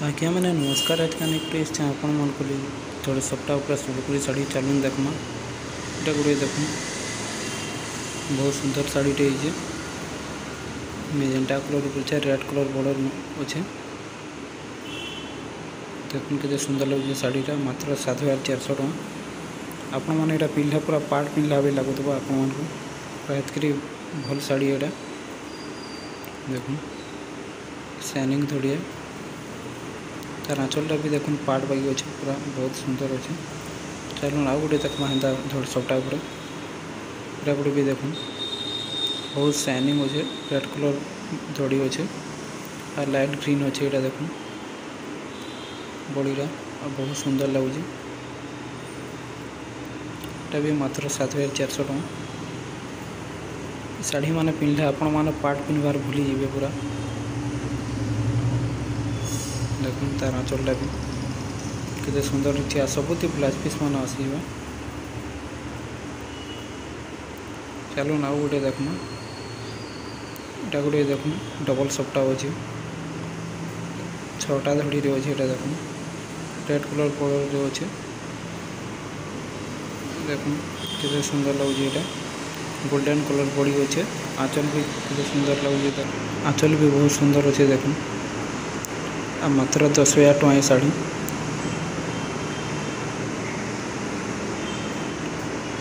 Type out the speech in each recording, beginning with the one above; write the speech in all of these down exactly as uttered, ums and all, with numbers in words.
ଆଜ୍ଞା ମାନେ ନମସ୍କାର। ଆଜକାଲି ଗୋଟେ ଏସିଛେ ଆପଣମାନଙ୍କୁ ଲାଗି ଥୋଡ଼େ ସପ୍ତା ଉପରେ ସମ୍ବଲପୁରୀ ଶାଢ଼ୀ। ଚାଲୁନ୍ ଦେଖମା। ଏଇଟା ଗୋଟେ ଦେଖୁନ୍, ବହୁତ ସୁନ୍ଦର ଶାଢ଼ୀଟେ ହେଇଛେ। ମେଜେଣ୍ଟା କଲର୍ ଉପରେ ଅଛେ, ରେଡ୍ କଲର୍ ବର୍ଡର ଅଛେ। ଦେଖୁନ୍ କେତେ ସୁନ୍ଦର ଲାଗୁଛେ ଶାଢ଼ୀଟା। ମାତ୍ର ସାତ ହଜାର ଚାରିଶହ ଟଙ୍କା। ଆପଣମାନେ ଏଇଟା ପିନ୍ଧିଲା ପୁରା ପାଟ ପିନ୍ଧିଲା ଭଳି ଲାଗୁଥିବ ଆପଣମାନଙ୍କୁ। ପୁରା ଏତ୍କିରି ଭଲ ଶାଢ଼ୀ ଏଇଟା। ଦେଖୁନ୍, ସାଇନିଂ ଧଡ଼ିଆ। ତାର ଆঁଚଲଟା ବି ଦେଖୁନ୍, ପାଟ ବାଗି ଅଛି, ପୁରା ବହୁତ ସୁନ୍ଦର ଅଛି। ଚାଲୁନ୍ ଆଉ ଗୋଟେ ଦେଖମା ହେନ୍ତା ଧଡ଼ି ସପ୍ତା ଉପରେ। ଏଇଟା ଗୋଟେ ବି ଦେଖୁନ୍, ବହୁତ ସାଇନିଂ ଅଛେ। ରେଡ୍ କଲର୍ ଧଡ଼ି ଅଛେ ଆଉ ଲାଇଟ୍ ଗ୍ରୀନ୍ ଅଛେ। ଏଇଟା ଦେଖୁନ୍ ବଡ଼ିଟା, ଆଉ ବହୁତ ସୁନ୍ଦର ଲାଗୁଛି। ଏଟା ବି ମାତ୍ର ସାତ ହଜାର ଚାରିଶହ ଟଙ୍କା। ଶାଢ଼ୀ ମାନେ ପିନ୍ଧିଲେ ଆପଣମାନେ ପାଟ ପିନ୍ଧିବାର ଭୁଲି ଯିବେ ପୁରା। ଦେଖୁନ୍, ତାର ଆঁଚଲଟା ବି କେତେ ସୁନ୍ଦର ହେଇଛି। ଆଉ ସବୁଥି ବ୍ଲାଉଜ ପିସ୍ ମାନେ ଆସିଯିବ। ଚାଲୁନ୍ ଆଉ ଗୋଟେ ଦେଖମା। ଏଟା ଗୋଟେ ଦେଖୁନ୍, ଡବଲ ସପ୍ତା ଅଛି, ଛଅଟା ଧଡ଼ିରେ ଅଛି। ଏଟା ଦେଖୁନ୍, ରେଡ୍ କଲର୍ ବର୍ଡରରେ ଅଛି। ଦେଖୁନ୍ କେତେ ସୁନ୍ଦର ଲାଗୁଛି ଏଇଟା। ଗୋଲ୍ଡେନ୍ କଲର୍ ବଡ଼ି ଅଛେ। ଆঁଚଲ ବି କେତେ ସୁନ୍ଦର ଲାଗୁଛି ତାର। ଆঁଚଲ ବି ବହୁତ ସୁନ୍ଦର ଅଛି ଦେଖୁନ୍। ଆଉ ମାତ୍ର ଦଶ ହଜାର ଟଙ୍କା ଏ ଶାଢ଼ୀ।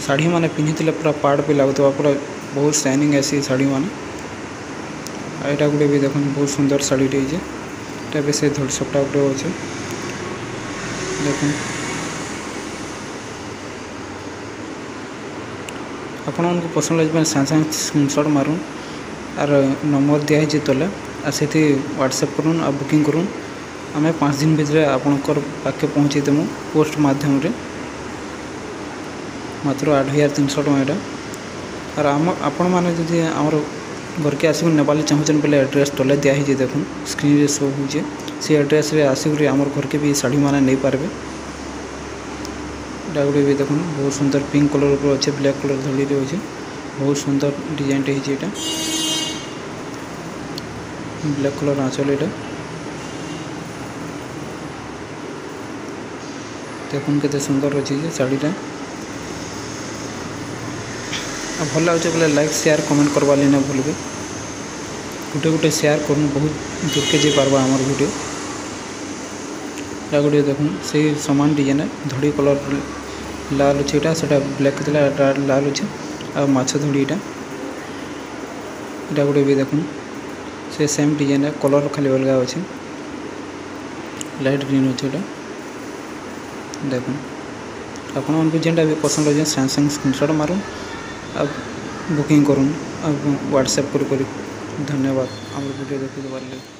ଶାଢ଼ୀ ମାନେ ପିନ୍ଧିଥିଲେ ପୁରା ପାଟ ବି ଲାଗୁଥିବା, ପୁରା ବହୁତ ସାଇନିଂ ଆସି ଶାଢ଼ୀ ମାନେ। ଆଉ ଏଇଟା ଗୋଟେ ବି ଦେଖୁନ୍, ବହୁତ ସୁନ୍ଦର ଶାଢ଼ୀଟେ ହେଇଛେ। ଏଟା ବି ସେ ଧଡ଼ି ସପ୍ତା ଗୋଟେ ଅଛେ। ଦେଖୁନ୍, ଆପଣମାନଙ୍କୁ ପସନ୍ଦ ଲାଗିବ, ସାଙ୍ଗେ ସାଙ୍ଗେ ସ୍କ୍ରିନସଟ୍ ମାରୁନ୍। ଆର୍ ନମ୍ବର ଦିଆହେଇଛି ତଲେ, ଆଉ ସେଠି ହ୍ୱାଟ୍ସଆପ୍ କରୁନ୍ ଆଉ ବୁକିଂ କରୁନ୍। ଆମେ ପାଞ୍ଚ ଦିନ ଭିତରେ ଆପଣଙ୍କର ପାଖକେ ପହଞ୍ଚେଇ ଦେମୁ ପୋଷ୍ଟ ମାଧ୍ୟମରେ। ମାତ୍ର ଆଠ ହଜାର ତିନିଶହ ଟଙ୍କା ଏଇଟା। ଆର୍ ଆମ ଆପଣମାନେ ଯଦି ଆମର ଘରକେ ଆସିକି ନେବାର୍ ଲାଗି ଚାହୁଁଛନ୍ ବେଲେ ଆଡ୍ରେସ୍ ତଲେ ଦିଆହେଇଛି, ଦେଖୁନ୍, ସ୍କ୍ରିନ୍ରେ ଶୋ ହଉଛେ। ସେ ଆଡ୍ରେସ୍ରେ ଆସିକରି ଆମର ଘରକେ ବି ଶାଢ଼ୀମାନେ ନେଇପାରିବେ। ଏଇଟା ଗୋଟେ ବି ଦେଖୁନ୍, ବହୁତ ସୁନ୍ଦର ପିଙ୍କ କଲର୍ ଉପରେ ଅଛେ, ବ୍ଲାକ୍ କଲର୍ ଧଡ଼ିରେ ଅଛେ। ବହୁତ ସୁନ୍ଦର ଡିଜାଇନଟେ ହେଇଛି ଏଇଟା। ବ୍ଲାକ୍ କଲର୍ ଆঁଚଲ ଏଇଟା। ଦେଖୁନ୍ କେତେ ସୁନ୍ଦର ଅଛି ଯେ ଶାଢ଼ୀଟା। ଆଉ ଭଲ ଲାଗୁଛେ ବୋଲେ ଲାଇକ୍, ସେୟାର, କମେଣ୍ଟ କରବାର୍ ଲାଗି ନାଇଁ ଭୁଲବେ। ଗୋଟେ ଗୋଟେ ସେୟାର କରୁନ୍, ବହୁତ ଦୂରକେ ଯାଇ ପାରବା ଆମର ଭିଡ଼ିଓ। ଏଟା ଗୋଟେ ଦେଖୁନ୍, ସେଇ ସମାନ ଡିଜାଇନ, ଧଡ଼ି କଲର୍ ଲାଲ ଅଛି ଏଇଟା। ସେଟା ବ୍ଲାକ୍ ଥିଲା, ଏଟା ଲାଲ ଅଛି ଆଉ ମାଛ ଧଡ଼ି ଏଇଟା। ଏଟା ଗୋଟେ ବି ଦେଖୁନ୍, ସେ ସେମ୍ ଡିଜାଇନ, କଲର୍ ଖାଲି ଅଲଗା ଅଛି। ଲାଇଟ୍ ଗ୍ରୀନ୍ ଅଛି ଏଟା। ଦେଖୁନ୍, ଆପଣମାନଙ୍କୁ ଯେନ୍ଟା ବି ପସନ୍ଦ ଅଛି, ସାଙ୍ଗେ ସାଙ୍ଗେ ସ୍କ୍ରିନସଟ୍ ମାରୁନ୍ ଆଉ ବୁକିଂ କରୁନ୍ ଆଉ ହ୍ୱାଟ୍ସଆପ୍ କରି କରି। ଧନ୍ୟବାଦ ଆମର ଭିଡ଼ିଓ ଦେଖିଦେବାର ଲାଗି।